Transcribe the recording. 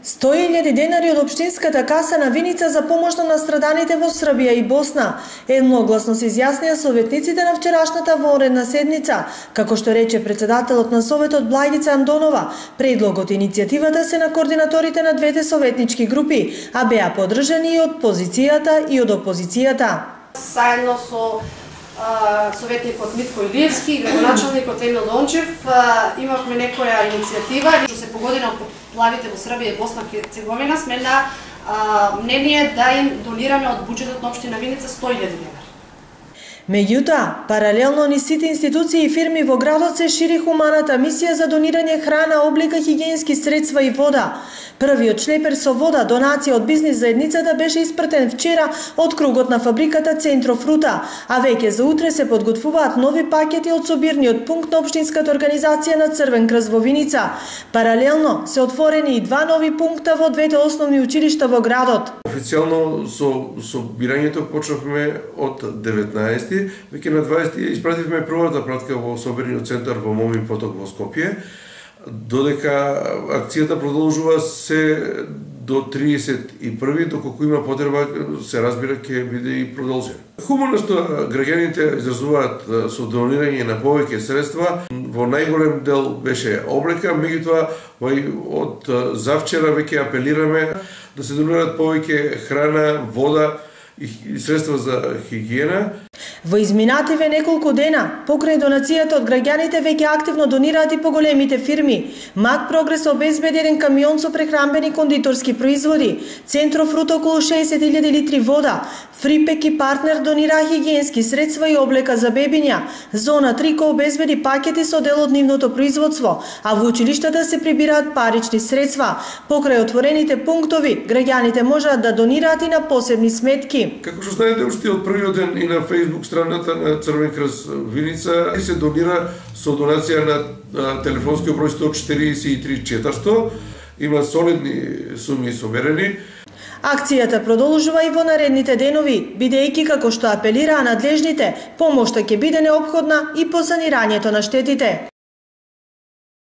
100.000 денари од општинската каса на Виница за помош на настраданите во Србија и Босна. Едногласно се изјаснија советниците на вчерашната вонредна седница. Како што рече председателот на Советот Благица Андонова, предлогот и иницијативата се на координаторите на двете советнички групи, а беа поддржани и од позицијата и од опозицијата. Заедно со советникот Митко Илиевски и градоначалникот Емил Дончев имавме некоја иницијатива што се погодина од поплавите во Србија и Босна и Херцеговина. Сме на мнение да им донираме од буџетот на општина Виница 100.000 денари. Меѓутоа, паралелно низ сите институции и фирми во градот се шири хуманата мисија за донирање храна, облека, хигиенски средства и вода. Првиот шлепер со вода, донација од бизнис заедницата, беше испратен вчера од кругот на фабриката Центро Фрута, а веќе за утре се подготвуваат нови пакети од собирниот пункт на општинската организација на Црвен крст во Виница. Паралелно се отворени и два нови пункта во двете основни училишта во градот. Официјално со собирањето почнавме од 19. Веќе на 20 испративме првата пратка во собирниот центар во Момин поток во Скопје, додека акцијата продолжува се до 31. Доколку има потреба, се разбира, ќе биде и продолжен. Хумано што граѓаните изразуваат со донирање на повеќе средства, во најголем дел беше облека, меѓутоа од завчера веќе апелираме да се донираат повеќе храна, вода и средства за хигиена. Во изминативе неколку дена, покрај донацијата од граѓаните, веќе активно донираат и поголемите фирми. Мак Прогрес обезбеди еден камион со прехранбени кондиторски производи, Центро Фрута околу 60.000 литри вода, Фрипек и партнер донираа хигиенски средства и облека за бебиња. Зона Трико обезбеди пакети со дел од нивното производство, а во училиштата се прибираат парични средства. Покрај отворените пунктови, граѓаните можат да донираат и на посебни сметки. Како што знаете, уште од првиот ден и на Facebook страната на Црвен крст Виница се донира со донација на телефонски број 143 400. Има солидни суми соберени. Акцијата продолжува и во наредните денови, бидејќи, како што апелираа надлежните, помошта ќе биде неопходна и по санирањето на штетите.